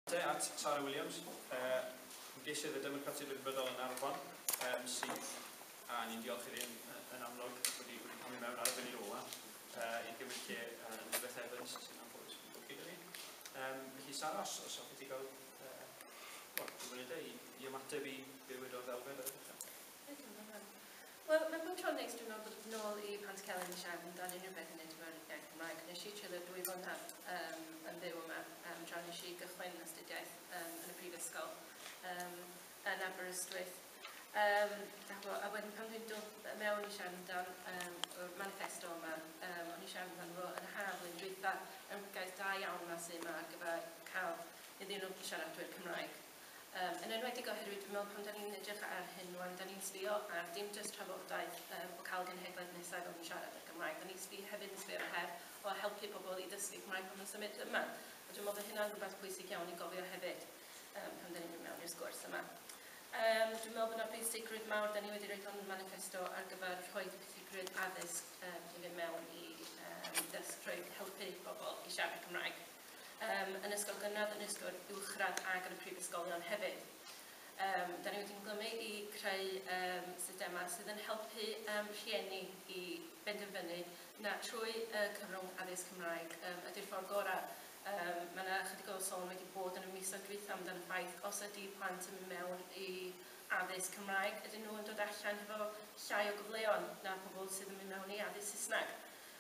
Te at Sara Williams, ymgeisydd y Democratiaid Rhyddfrydol yn Arfon, sydd, a ni'n diolch iddi yn amlwg, wedi camu mewn ar y funud ola i gymryd lle Elizabeth Evans, sy'n anffodus yn dod gyda ni. Felly Sara, os hoffet ti gael wel, munudau i ymateb i be wedodd Elfed ar y dechrau. Wel, mae bob tro'n neis dwi'n meddwl bod nôl i Pantycelyn i siarad amdano unrhyw beth yn neud efo'r iaith Gymraeg. Nes i treulio 2 flynedd yn byw yma tra nes i gychwyn astudiaeth yn y prifysgol yn Aberystwyth. A wedyn pan dwi'n dod mewn i siarad amdan y manifesto yma, o'n i siarad amdano fo yn y haf flwyddyn dwytha, yn gaeth da iawn yma sydd yma ar gyfer cael iddyn nhw siaradwyr Cymraeg. Yn enwedig oherwydd dwi'n meddwl pan da ni'n edrych ar hyn rwan, da ni'n sbio ar dim jyst trafodaeth o cael genhedlaeth nesaf o'n siarad y Gymraeg, da ni'n sbio hefyd yn sbio ar her o helpu pobl i ddysgu Cymraeg pan nhw'n symud yma. A dwi'n meddwl bod hynna'n rhywbeth pwysig iawn i gofio hefyd pan da ni'n mynd mewn i'r sgwrs yma. Dwi'n meddwl bod yna bwysigrwydd mawr, da ni wedi rhoi hwn manifesto ar gyfer rhoi pwysigrwydd addysg i fynd mewn i dysg, rhoi helpu bobl i siarad Cymraeg yn ysgol gynradd, yn ysgol uwchradd ac yn y prifysgolion hefyd. Da ni wedi ymglymu i creu systemau sydd yn helpu rhieni i benderfynu na trwy cyfrwng addysg Cymraeg ydy'r ffordd gorau. Mae yna chydig o sôn wedi bod yn y misoedd dwytha amdano ffaith os ydy plant yn mynd mewn i addysg Cymraeg, ydyn nhw yn dod allan hefo llai o gyfleon na pobl sydd yn mynd mewn i addysg Saesneg.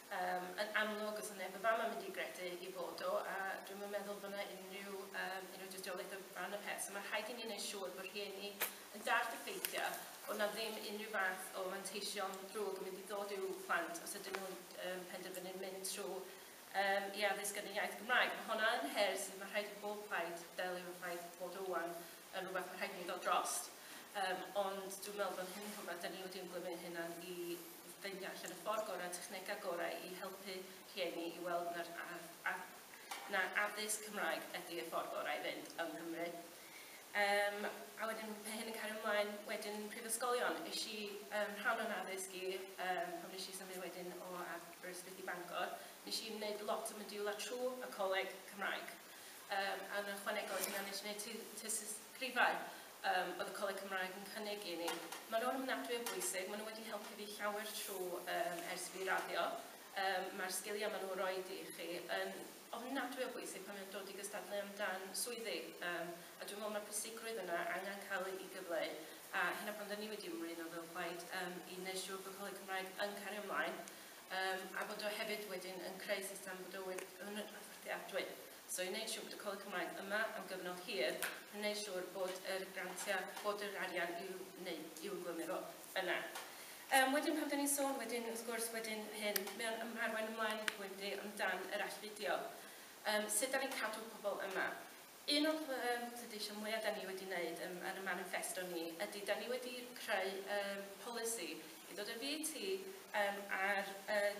Yn amlwg, os yna neb yn fama mynd i gredu i fod o, a dwi'n meddwl bod yna unrhyw dystiolaeth o ran y peth. So mae rhaid i ni wneud siŵr bod rhieni yn dallt y ffeithiau bod na ddim unrhyw fath o manteision drwg yn mynd i ddod i'w plant os ydyn nhw'n penderfynu mynd trwy i addysg yn y iaith Gymraeg. Mae hwnna yn her sydd mae rhaid i bob plaid delio efo ffaith bod rwan yn rhywbeth mae rhaid i ni ddod drost. Ond dwi'n meddwl bod hyn rhywbeth da ni wedi ymglymu hynna'n i ffeindio allan y ffordd gorau, technegau gorau i helpu rhieni i weld na addysg Cymraeg ydy y ffordd gorau i fynd yng Nghymru. A wedyn, pe hyn yn cario ymlaen, wedyn prifysgolion. Es i rhan o'n addysg i, pan nes i symud wedyn o Aberystwyth i Bangor, nes i wneud lot o modiwla trwy y Coleg Cymraeg. A yn ychwanegol hynna nes i wneud tystysgrifau oedd y Coleg Cymraeg yn cynnig i ni. Maen nhw'n ofnadwy o bwysig, maen nhw wedi helpu fi llawer trwy ers fi raddio. Mae'r sgiliau maen nhw'n rhoi i chi yn ofnadwy o bwysig pan mae'n dod i gystadlu amdan swyddi. A dwi'n meddwl mae'r pwysigrwydd yna angen cael ei gyfleu. A hynna pan da ni wedi ymrwymo fel plaid i wneud siŵr bod Coleg Cymraeg yn cario ymlaen. A bod o hefyd wedyn yn creu system bod o yn fforddiadwy. So i wneud siŵr bod y Coleg Cymraeg yma am gyfnod hir, i wneud siŵr bod yr grantiau, bod yr arian i'w wneud, i'w glymu fo yna. Wedyn pan da ni'n sôn wedyn, wrth gwrs, wedyn hyn, mae o'n arwain ymlaen i pwynt amdan yr allfudio. Sut da ni'n cadw pobl yma? Un o'r pleidleisio mwyaf da ni wedi wneud yn y manifesto ni ydy da ni wedi creu polisi i ddod â VAT ar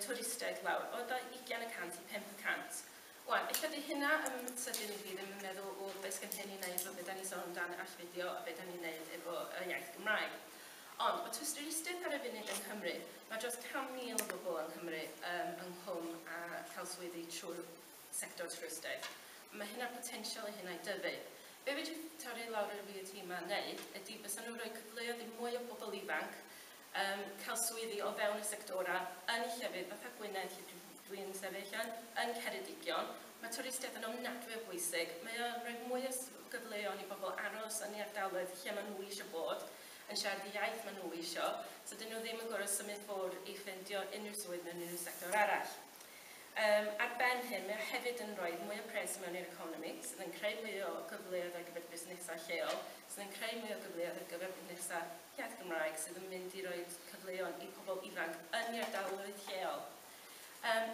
twristiaid lawr o 20% i 5%. Wan, ella di hynna yn sydyn i fi ddim yn meddwl o beth sgen hyn i wneud efo beth da ni'n sôn amdan allfudio a beth da ni'n wneud efo y iaith Gymraeg. Ond, o twristiaeth ar y funud yng Nghymru, mae dros 100,000 o bobl yng Nghymru ynghlwm a cael swyddi trwy'r sector twristiaeth. Mae hynna'r potensial i hynna i dyfu. Be fedri torri lawr yr VAT yma wneud ydy bysa nhw'n rhoi cyfleoedd i mwy o bobl ifanc cael swyddi o fewn y sectora yn y llefydd fatha Gwynedd lle dwi'n sefyll yn Ceredigion. Mae twristiaeth yn ofnadwy o bwysig. Mae o'n rhoi mwy o gyfleoedd i bobl aros yn eu ardaloedd lle maen nhw eisiau bod, yn siarad y iaith maen nhw eisiau, so dyn nhw ddim yn gorfod symud ffwrdd i ffeindio unrhyw swydd mewn unrhyw sector arall. Ar ben hyn, mae o hefyd yn rhoi mwy o pres mewn i'r economi, sydd yn creu mwy o gyfleoedd ar gyfer busnesau lleol, sydd yn creu mwy o gyfleoedd ar gyfer busnesau iaith Gymraeg, sydd yn mynd i roi cyfleoedd i pobl ifanc yn eu ardaloedd lleol.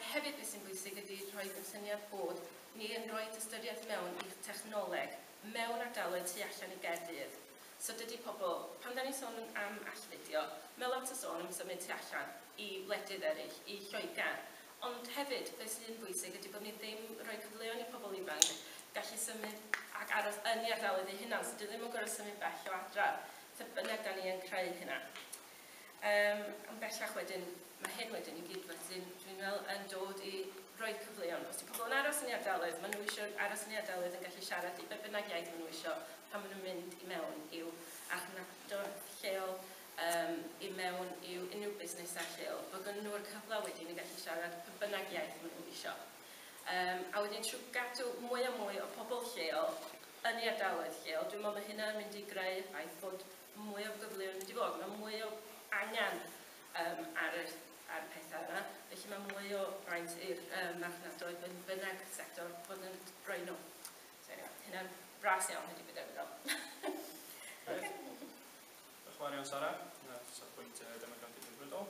Hefyd, beth sy'n bwysig ydy rhoi y syniad bod ni yn rhoi ystyriaeth mewn i technoleg mewn ardaloedd tu allan i Gaerdydd. So dydy pobl, pan da ni'n sôn am allfudio, mae lot o sôn am symud tu allan i wledydd eraill, i Lloegr. Ond hefyd, beth sy'n bwysig ydy bod ni ddim rhoi cyfleoedd i pobl ifanc gallu symud ac aros yn eu ardaloedd eu hunan, so dwi ddim yn gorfod symud bell o adra. So bynnag da ni yn creu hynna. Ond bellach wedyn, mae hyn wedyn i gyd wedyn, dwi'n meddwl, yn dod i roi cyfleoedd. Os di pobl yn aros aros yn eu ardaloedd, maen nhw eisiau aros yn eu ardaloedd yn gallu siarad i be bynnag iaith maen nhw eisiau pan maen nhw'n mynd i mewn i'w archfarchnadoedd lleol, i mewn i'w unrhyw busnesau lleol, bod gen nhw'r cyfle wedyn i gallu siarad pa bynnag iaith maen nhw eisiau. A wedyn trwy gadw mwy a mwy o pobl lleol yn eu ardaloedd lleol, dwi'n meddwl mae hynna'n mynd i greu y ffaith bod mwy o gyfleoedd yn mynd i fod. Mae mwy o angen ar y pethau yna, felly mae mwy o fraint i'r marchnadoedd yn bynnag sector fod yn rhoi nhw. So anyway, hynna'n fras iawn ydy beth dwi'n Grêt. Diolch yn fawr iawn, Sara. Dyna safbwynt Democratiaid Rhyddfrydol.